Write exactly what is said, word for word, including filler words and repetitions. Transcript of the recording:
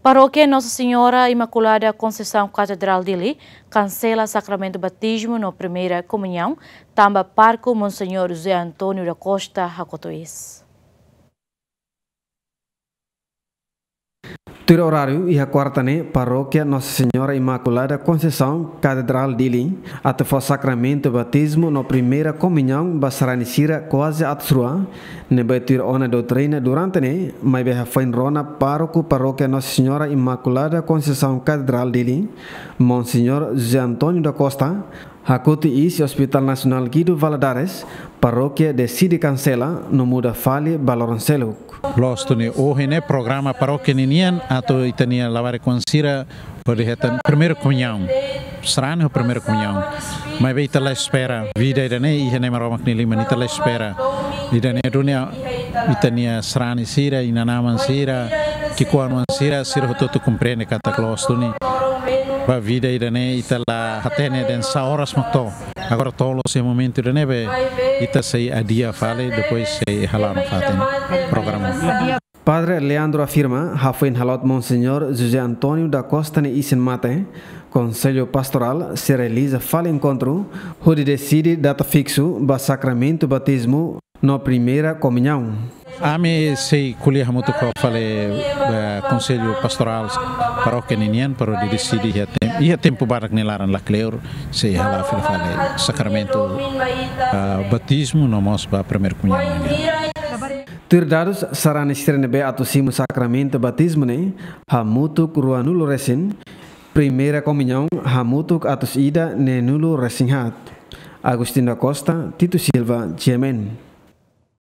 Parókia Nossa Senhora Imaculada Conceição Katedrál Dili kansela sakramentu batizmu no primeira komuñaun, tanba pároku Monseñór José António da Costa hakotu iis. Tuir oráriu, iha kuarta ne'e, Parókia Nossa Senhora Imaculada Conceição Katedrál Dili atu fó sakramentu batizmu no primeira komuñaun ba sarani sira kuaze atus rua, ne'ebé tuir ona doutrina durante ne'e, maibé hafoin rona pároku Parókia Nossa Senhora Imaculada Conceição Katedrál Dili, Monseñór José António da Costa, hakotu iis iha Hospital Nasionál Guido Valadares, parókia deside kansela no muda fali ba loron seluk. Loos duni, ohin ne'e programa parókia ninian atu ita-nia labarik-oan sira hodi hetan primeira komuñaun. Sarani ho primeira komuñaun. Maibé ita la espera, vida ida-ne'e iha Nai Maromak nia liman, ita la espera. Ida-ne'e duni ita-nia sarani sira, inan-aman sira, ki'ikoan-oan sira, sira hotu-hotu komprende katak loos duni. Ba vida ida-ne'e ita la hatene dehan sá oras mak to'o. Agora to'o loos iha momentu ida-ne'ebé ita sei adia fali, depois sei hala'o nafatin programa. Padre Leandro afirma, hafoin hala'o Monseñór José António da Costa nia isin-mate, Konsellu Pastorál sei realiza fali enkontru, hodi deside data fiksu ba sakramentu batizmu no primeira komuñaun. Ami sei ko'alia hamutuk ho fali, eh, Konsellu Pastorál Parókia ninian para hodi deside iha tem-, iha tempu badak nia laran, lakleur sei hala'o fila fali sakramentu, ah, batizmu no mós ba primeira komuñaun ninian. Tuir dadus, sarani sira ne'ebé atu simu sakramentu batizmu ne'e hamutuk ruanulu resin, primeira komuñaun hamutuk atus ida neenulu resin haat. Agostinho da Costa, Tito Silva, G M N.